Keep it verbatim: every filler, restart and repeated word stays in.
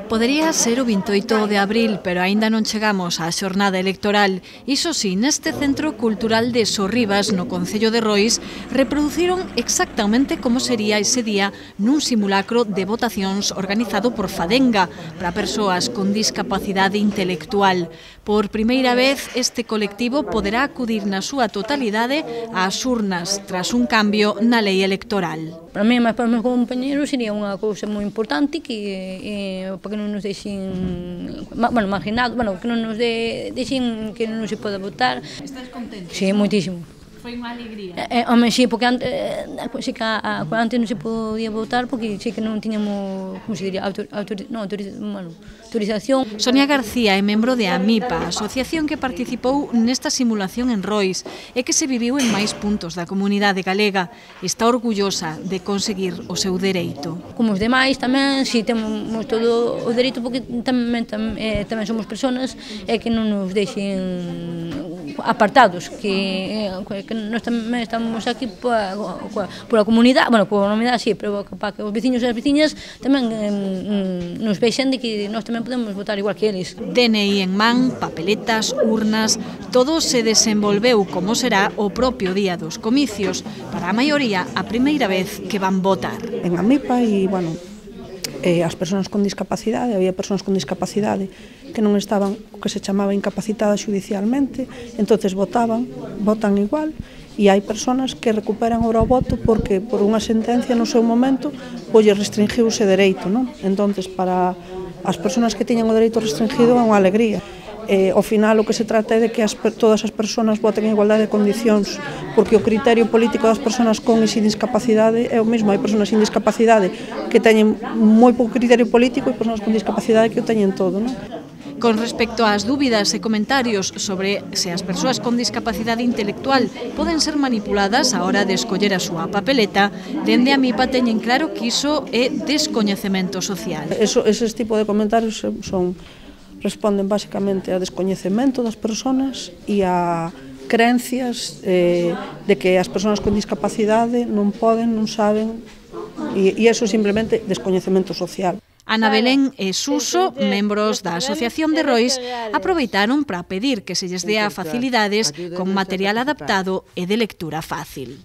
Podería ser o vinte e oito de abril, pero aínda non chegamos á xornada electoral. Iso si, neste Centro Cultural de Sorribas, no Concello de Rois, reproduciron exactamente como sería ese día nun simulacro de votacións organizado por Fadenga para persoas con discapacidade intelectual. Por primeira vez, este colectivo poderá acudir na súa totalidade ás urnas tras un cambio na lei electoral. Para mí, mas para os meus compañeros, sería unha cousa moi importante que, eh, para que non nos deixen, bueno, marginados, bueno, que non nos de, deixen que non se poda votar. Estás contente? Sí, moitísimo. Foi unha alegría? Eh, eh, home, sí, porque antes, eh, sí que a, a, antes non se podía votar porque sí que non tiñamos, como se diría, autor, autor, no, autoriz, bueno, autorización. Sonia García é membro de AMIPA, asociación que participou nesta simulación en Rois e que se viviu en máis puntos da comunidade galega. Está orgullosa de conseguir o seu dereito. Como os demais tamén, si temos todo o dereito porque tamén, tamén, eh, tamén somos persoas e que non nos deixen apartados, que, que nós tamén estamos aquí pola, pola comunidade, bueno, pola comunidade sí, pero para que os veciños e as veciñas tamén eh, nos vexen de que nós tamén podemos votar igual que eles. D N I en man, papeletas, urnas, todo se desenvolveu como será o propio día dos comicios, para a maioría a primeira vez que van votar. En AMIPA e, bueno, eh, as persoas con discapacidade, había persoas con discapacidade que non estaban, o que se chamaba incapacitadas judicialmente, entonces votaban, votan igual, e hai persoas que recuperan ora o voto porque por unha sentencia no seu momento pois restringiu ese dereito, non? Entonces, para as persoas que tiñan o dereito restringido é unha alegría. Eh, ao final o que se trata é de que as, todas as persoas voten en igualdade de condicións, porque o criterio político das persoas con e sin discapacidade é o mesmo. Hai persoas sin discapacidade que teñen moi pouco criterio político e persoas con discapacidade que o teñen todo, non? Con respecto ás dúbidas e comentarios sobre se as persoas con discapacidade intelectual poden ser manipuladas á hora de escoller a súa papeleta, dende a AMIPA teñen claro que iso é descoñecemento social. Eso, eses tipo de comentarios son, responden basicamente a descoñecemento das persoas e a creencias eh, de que as persoas con discapacidade non poden, non saben, e, e eso é simplemente descoñecemento social. Ana Belén e Suso, membros da Asociación de Rois, aproveitaron para pedir que se lles dea facilidades con material adaptado e de lectura fácil.